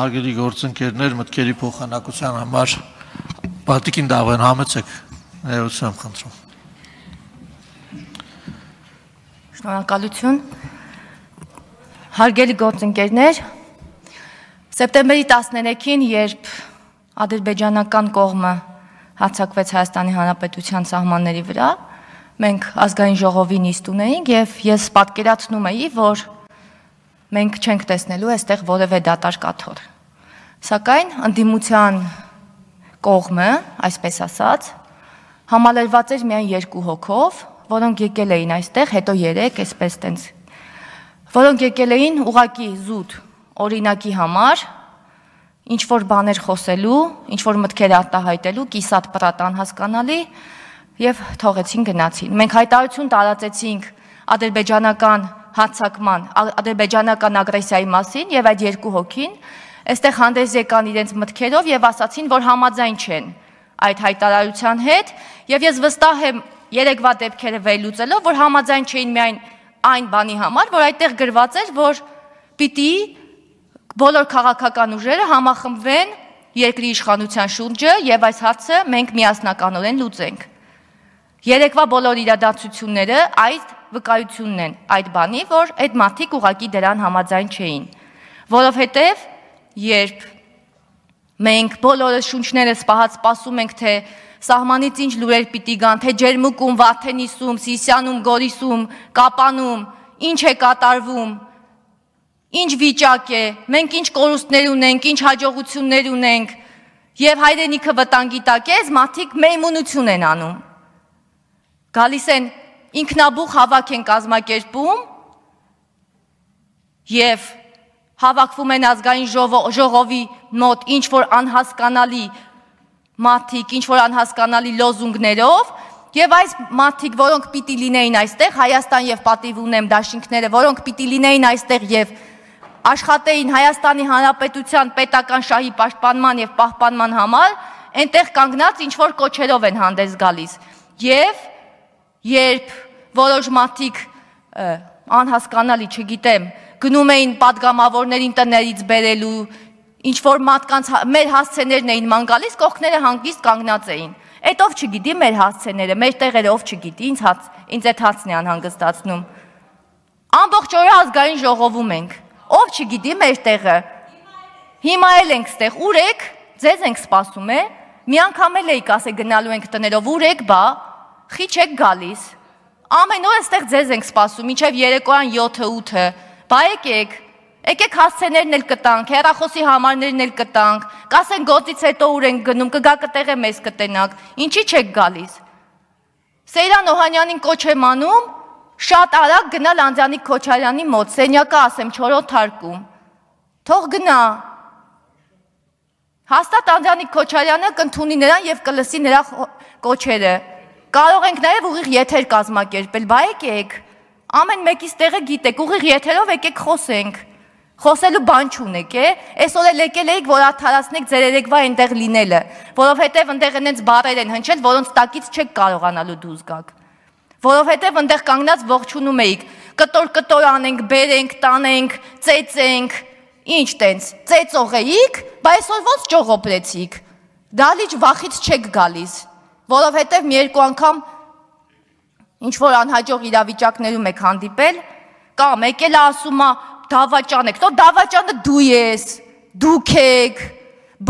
Հարգելի գործընկերներ, մտքերի փոխանակության համար պատիկին դավեն համեցեք, ներողություն խնդրում։ Շնորհակալություն։ Հարգելի գործընկերներ, սեպտեմբերի 13-ին, երբ ադրբեջանական կողմը հարձակվեց Հայաստանի Հանրապետության սահմանների վրա, մենք ազգային ժողովի նիստ ունեինք եւ ես պատկերացնում էի, որ մենք չենք տեսնելու այստեղ որևէ դատարկ աթոռ։ Սակայն ընդդիմության կողմը, այսպես ասած, համալրված էր միայն 2 հոգով, որոնք եկել էին այստեղ, հետո 3, այսպես տենց, որոնք եկել էին ուղղակի զուտ օրինակի համար, ինչ որ բաներ խոսելու, ինչ որ մտքեր արտահայտելու, կիսատ պրատ անհասկանալի եւ թողեցին գնացին։ Մենք հայտարարություն տարածեցինք ադրբեջանական հարձակման, ադրբեջանական ագրեսիայի մասին եւ այդ 2 հոգին այստեղ հանդես եկան իրենց մտքերով եւ ասացին, որ համաձայն չեն այդ հայտարարության հետ եւ ես վստահ եմ երեկվա դեպքերը վերլուծելով, որ համաձայն չէին միայն այն բանի համար, որ այդտեղ գրված էր, որ պիտի բոլոր քաղաքական ուժերը համախմբվեն երկրի իշխանության շուրջը եւ այս հարցը մենք միասնականորեն լուծենք։ Երեկվա բոլոր իրադարձությունները այդ վկայությունն են այդ բանի, որ այդ մարդիկ ուղղակի դրան համաձայն չէին, որովհետև երբ մենք բոլորը շունչներս պահած սպասում ենք, թե սահմանից ինչ լուրեր պիտի գան, թե Ջերմուկում, Վարդենիսում, Սիսիանում, Գորիսում, Կապանում, ինչ է կատարվում, ինչ վիճակ է, մենք ինչ կորուստներ ունենք, ինչ հաջողություններ ունենք եւ հայրենիքը վտանգի տակ է, մարդիկ մեյմունություն են անում։ Գալիս են ինքնաբուխ հավաք են կազմակերպում եւ հավաքվում են ազգային ժողովի մոտ ինչ որ անհասկանալի մարդիկ, ինչ որ անհասկանալի լոզունգներով եւ այս մարդիկ, որոնք պիտի լինեին այստեղ, Հայաստան եւ պատիվ ունեմ դաշինքները, որոնք պիտի լինեին այստեղ եւ աշխատեին Հայաստանի Հանրապետության պետական շահի պաշտպանման եւ պահպանման համար, այնտեղ կանգնած ինչ որ կոչերով են հանդես գալիս եւ երբ որոշ մարդիկ անհասկանալի, չգիտեմ, գնում էին պատգամավորներին տներից բերելու, ինչ որ մարդկանց մեր հասցեներն էին ման գալիս, կողքները հանգիստ կանգնած էին։ Այդ ով չգիտի մեր հասցեները, մեր տեղերը ով չգիտի, ինձ այդ հարցն է անհանգստացնում։ Ամբողջ օրը ազգային ժողովում ենք, ով չգիտի մեր տեղը։ Հիմա էլ ենք ստեղ, ուր եք, ձեզ ենք սպասում է, մի անգամ էլ էիք ասե գնալու ենք տներով, ուր եք բա, խի չեք գալիս։ Ամեն օր այստեղ ձեզ ենք սպասում, մինչև երեկոյան 7-8-ը, բա եկեք հասցեներն էլ կտանք, հեռախոսի համարներն էլ կտանք, կասեն գործից հետո ուր ենք գնում, կգա կտեղը մեզ կտենակ, ինչի չեք գալիս։ Սեյրան Օհանյանին կոչ եմ անում, շատ արագ գնալ Անդրանիկ Քոչարյանի մոտ, սենյակը ասեմ 4-րդ հարկում, թող գնա։ Հաստատ Անդրանիկ Քոչարյանը կընդունի նրան եւ կլսի նրա կոչերը։ Կարող ենք նաև ուղիղ եթեր կազմակերպել, բա եկեք, ամեն մեկից տեղը գիտեք, ուղիղ եթերով եկեք խոսենք, խոսելու բան չունեք, այսօր էլ եկել էիք, որ արդարացնեք ձեր երեկվա այնտեղ լինելը, որովհետև այնտեղ այնց բառեր են հնչել, որոնց տակից չեք կարողանալու դուրս գաք, որովհետև այնտեղ կանգնած ողջունում էիք, կտոր անենք, բերենք, տանենք, ծեծենք, ինչ տենց, ծեծող էիք, բա այսօր ոնց ճողոպրեցիք, դալիճ վախից չեք գալիս, որովհետև մի երկու անգամ ինչ-որ անհաջող իրավիճակներում եք հանդիպել, կամ եկել ասում դավաճան եք, թող դավաճանը դու ես, դուք եք,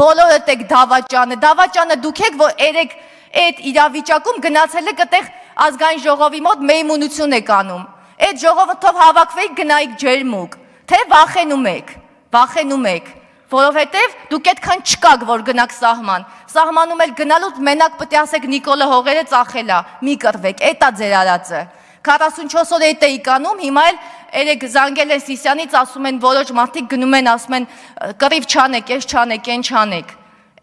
բոլորդ եք դավաճանը դուք եք, որ երեք այդ իրավիճակում գնացել եք այդտեղ ազգային ժողովի մոտ մեյմունություն եք անում, այդ ժողովով հավաքվեիք գնայիք Ջերմուկ, թե վախենում եք, որովհետև դուք այդքան չկաք, որ գնաք սահման, սահմանում էլ գնալուց մենակ պետք է ասեք Նիկոլը հողերը ծախելա, մի կռվեք, էտա ձեր արածը, 44 օր էտ էիք անում, հիմա էլ երեք զանգել են Սիսյանից, ասում են որոշ մարդիկ գնում են, ասում են կռիվ չանեք, ես չանեք, են չանեք,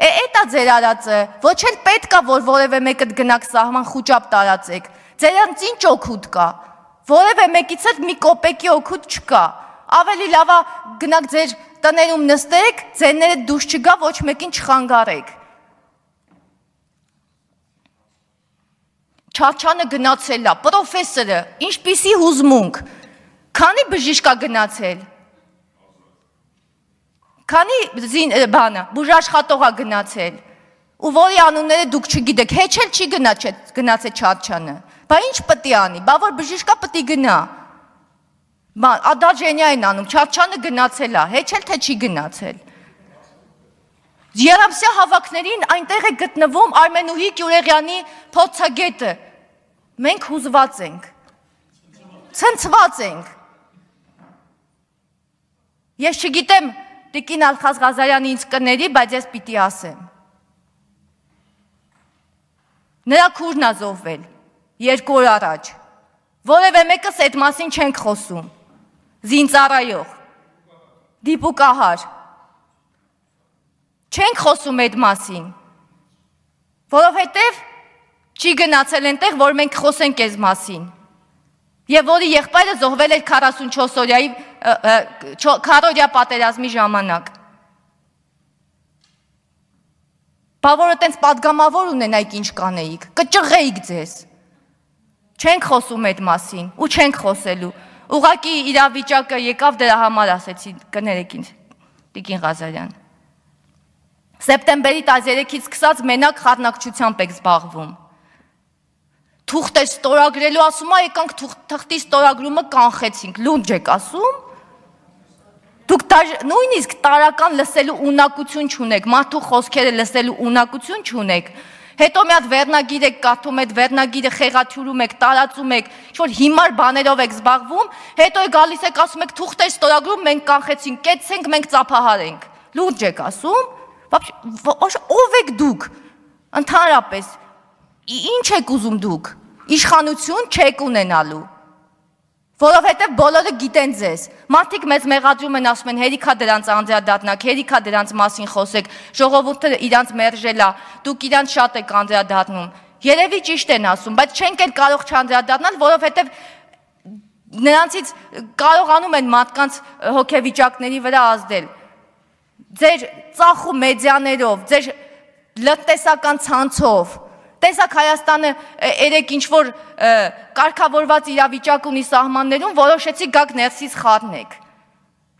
էտա ձեր արածը, ոչ էլ պետք է, որ որևէ մեկդ գնաք սահման խուճապ տարածեք, ձերանց ինչ օգուտ կա, որևէ մեկից էլ մի կոպեկի օգուտ չկա, ավելի լավա գնաք ձեր տներում նստեք, ձենները դուրս չգա, ոչ մեկին չխանգարեք։ Չաչանը գնացել է, պրոֆեսորը, ինչպիսի հուզմունք, քանի բժիշկ է գնացել։ Քանի բանը բուժաշխատողա գնացել ու որի անունները դուք չգիտեք, հեչ էլ չի գնացել Չաչյանը։ Բա ինչ պետք է անի, բա որ բժիշկա պետք է գնա։ Ադաջենյա են անում, Չաչյանը գնացել է, հեչ էլ թե չի գնացել։ Երամսյա հավաքներին այնտեղ է գտնվում Արմենուհի Գյուլեղյանի փորձագետը։ Մենք հուզված ենք, ցնցված ենք։ Ես չգիտեմ Տիկին Ալխազ Ղազարյանը ինձ կների, բայց ես պիտի ասեմ։ Նրա քուրն է զոհվել 2 օր առաջ։ Որևէ մեկս այդ մասին չենք խոսում։ Զինծառայող, դիպուկահար։ Չենք խոսում այդ մասին, որովհետև չի գնացել այնտեղ, որ մենք խոսենք այս մասին։ Եվ որի եղբայրը զոհվել էր 44-օրյա պատերազմի ժամանակ։ Բա որ այտենց պատգամավոր ունենայիք ինչ կանեիք, կճղեիք ձեզ։ Չենք խոսում այդ մասին ու չենք խոսելու։ Ուղղակի իրավիճակը եկավ դրա համար ասեցի, կներեք ինձ, Տիկին Ղազարյան։ Սեպտեմբերի 13-ից սկսած մենակ խառնակցությամբ եք զբաղվում։ Թուղթ է ստորագրելու, ասում է, եկանք թղթի ստորագրումը կանխեցինք, լունջ եք ասում։ Դուք նույնիսկ տարական լսելու ունակություն չունեք, մարդու խոսքերը լսելու ունակություն չունեք։ Հետո մի հատ վերնագիր եք կարդում, այդ վերնագիրը խեղաթյուրում եք, տարածում եք, ինչ-որ հիմար բաներով եք զբաղվում, հետո գալիս եք ասում եք թուղթ է ստորագրում, մենք կանխեցինք, կեցցենք, մենք ծափահարենք։ Լուրջ եք ասում։ Ով եք դուք, ընդհանրապես, ինչ եք ուզում դուք, իշխանություն չեք ունենալու, որովհետև բոլորը գիտեն ձեզ, մարդիկ մեզ մեղադրում են, ասում են հերիքա դրանց անդրադառնաք, հերիքա դրանց մասին խոսեք, ժողովուրդը իրանց մերժելա, դուք իրանց շատ եք անդրադառնում, երևի ճիշտ են ասում, բայց չենք էլ կարող չանդրադառնալ, որովհետև նրանցից կարողանում են մարդկանց հոգեվիճակների վրա ազդել։ Ձեր ծախու մեդիաներով, ձեր լրտեսական ցանցով, տեսակ Հայաստանը երեք ինչ-որ կարգավորված իրավիճակ ունի սահմաններում, որոշեցի գաք ներսից խառնեք։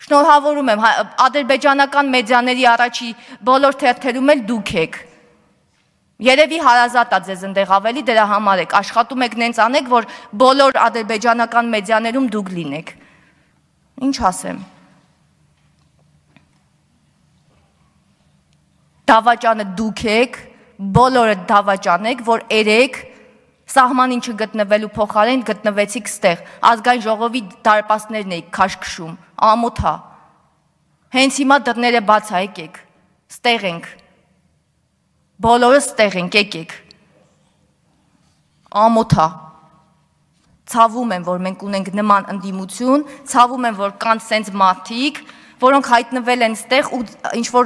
Շնորհավորում եմ, ադրբեջանական մեդիաների առաջի բոլոր թերթերում էլ դուք եք։ Երևի հարազատ է ձեզ ընդեղ ավելի, դրա համար եք, աշխատում եք նենց անեք, որ բոլոր ադրբեջանական մեդիաներում դուք լինեք։ Ինչ ասեմ։ Դավաճանը դուք եք, բոլորը դավաճան եք, որ երեք սահմանին չգտնվելու փոխարեն գտնվեցիք ստեղ, ազգային ժողովի դարպասներն էիք քաշքշում, ամոթա, հենց հիմա դռները բաց է, եկեք, ստեղ ենք, բոլորը ստեղ ենք, եկեք, ամոթա, ցավում եմ, որ մենք ունենք նման ընդդիմություն, ցավում եմ, որ կան սենց մարդիկ, որոնք հայտնվել են ստեղ ու ինչ-որ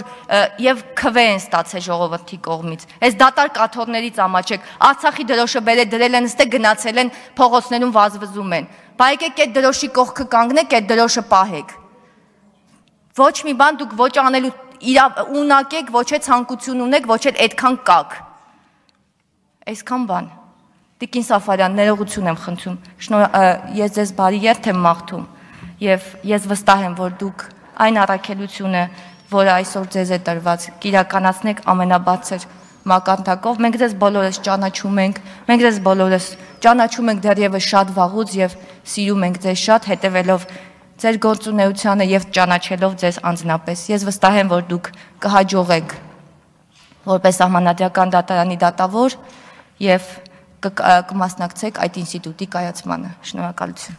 և քվե են ստացել ժողովրդի կողմից։ Այս դատար կաթողներից ամաչեք, Արցախի դրոշը դրել են ստեղ գնացել են փողոցներում վազվզում են։ Բա եկեք այդ դրոշի կողքը կանգնեք, այդ դրոշը պահեք։ Ոչ մի բան դուք ոչ անելու ունակ եք, ոչ է ցանկություն ունեք, ոչ էլ այդքան կաք։ Այսքան բան։ Տիկին Սաֆարյան, ներողություն եմ խնդրում, ես ձեզ բարի երթ եմ մաղթում և ես վստահ եմ, որ դուք այն առաքելությունը, որը այսօր ձեզ է տրված, կիրականացնեք ամենաբարձր մակարդակով, մենք ձեզ բոլորս ճանաչում ենք, մենք ձեզ բոլորս ճանաչում ենք դեռևս շատ վաղուց և սիրում ենք ձեզ շատ, հետևելով ձեր գործունեությանը և ճանաչելով ձեզ անձնապես։ Ես վստահ եմ, որ դուք կհաջողեք որպես Սահմանադրական դատարանի դատավոր և կմասնակցեք այդ ինստիտուտի կայացմանը։ Շնորհակալություն։